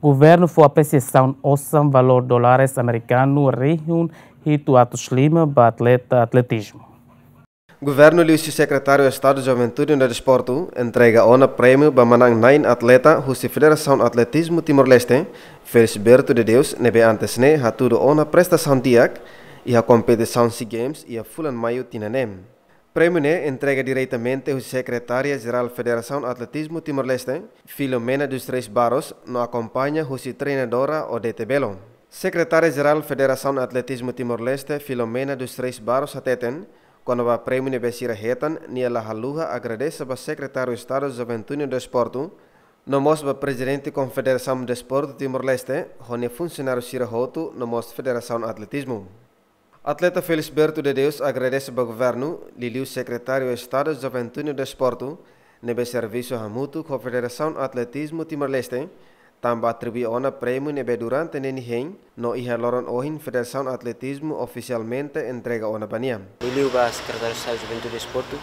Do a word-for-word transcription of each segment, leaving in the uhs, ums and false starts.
Governu fó apresiasaun osan valór dólares amerikanu rihun hitu atus lima ba atleta atletizmu. Governu liuhusi Sekretáriu Estadu Juventude no Desportu entrega ona prémiu ba manán-na'in atleta husi Federasaun Atletizmu Timor-Leste, Felisberto de Deus, ne'ebé antes ne'e hatudu ona prestasaun di'ak iha kompetisaun SEA Games iha fulan Maiu tinan ne'e. Prémiu ne'e entrega diretamente husi Sekretária Jerál Federasaun Atletizmu Timor-Leste, Filomena dos Reis Barros, no akompaña husi treinadora Odete Belo. Sekretária Jerál Federasaun Atletizmu Timor-Leste, Filomena dos Reis Barros, hateten, kona-ba prémiu ne'ebé sira hetan, nia la haluha agradese ba Sekretáriu Estadu Juventude no Desportu, no mós ba Prezidente Konfederasaun Desportu Timor-Leste, ho nia funsionáriu sira hotu, no mós Federasaun Atletizmu. Atleta Felisberto de Deus agradese ba governu, liuliu Sekretáriu Estadu Juventude no Desportu, ne'ebé servisu hamutuk ho Federasaun Atletizmu Timor-Leste, tanba atribui ona prémiu ne'ebé durante ne'e nia hein, no iha loron ohin Federasaun Atletizmu ofisialmente entrega ona ba nia. Liuliu ba Sekretáriu Estadu Juventude Desportu,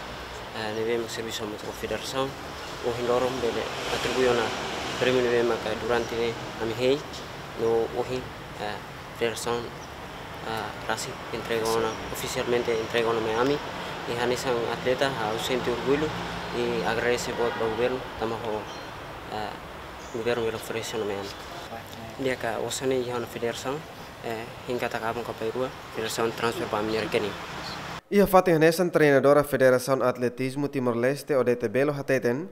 eh, ne'ebé mak servisu hamutuk ho federasaun, ohin loron bele atribui ona prémiu ne'ebé maka durante ne'e ami hein, no ohin, eh, federasaun, eh, rasik entrega ona, ofisialmente entrega ona mai ami. I hanesan atleta, ha'u sente orgullu i agradese boot ba governu, tanba ho, eh, governu bele oferese ona mai ami. Di'ak, osan ne'e iha ona federasaun, eh, hein katak aban ka bainrua, federasaun transfer ba ami-nia rekening. Iha fatin hanesan, treinadora Federasaun Atletizmu Timor-Leste, Odete Belo, hateten,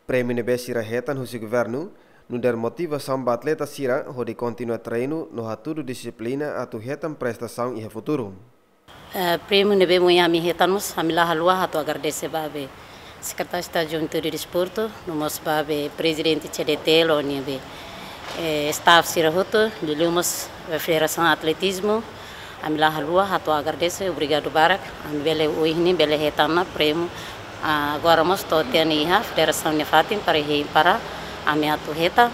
prémiu ne'ebé sira hetan husi governu, nu'udar motivasaun ba atleta sira hodi kontinua treinu no hatudu dixiplina atu hetan prestasaun iha futuru. Eh, prémiu ne'ebé mak ami hetan mós, ami la haluha atu agradese ba be Sekretáriu Estadu Juventude Desportu, no mós ba be Prezidente C D T L, no nia be, eh, staff sira hotu, liuliu mós be Federasaun Atletizmu, ami la haluha atu agradese, obrigadu barak, ami bele ohin ne'e bele hetan ona prémiu, ah, agora mós to'o tiha ona iha federasaun nia fatin para hein para ami atu hetan.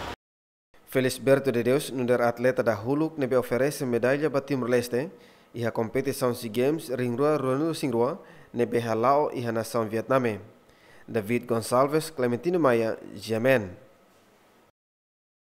Felisberto de Deus, nu'udar atleta dahuluk ne'ebé oferese medalla ba Timor-Leste iha kompetisaun SEA Games rihun rua ruanulu-resin-rua ne'ebé hala'o iha nasaun Vietname. David Gonçalves, Clementino Maia, G M N.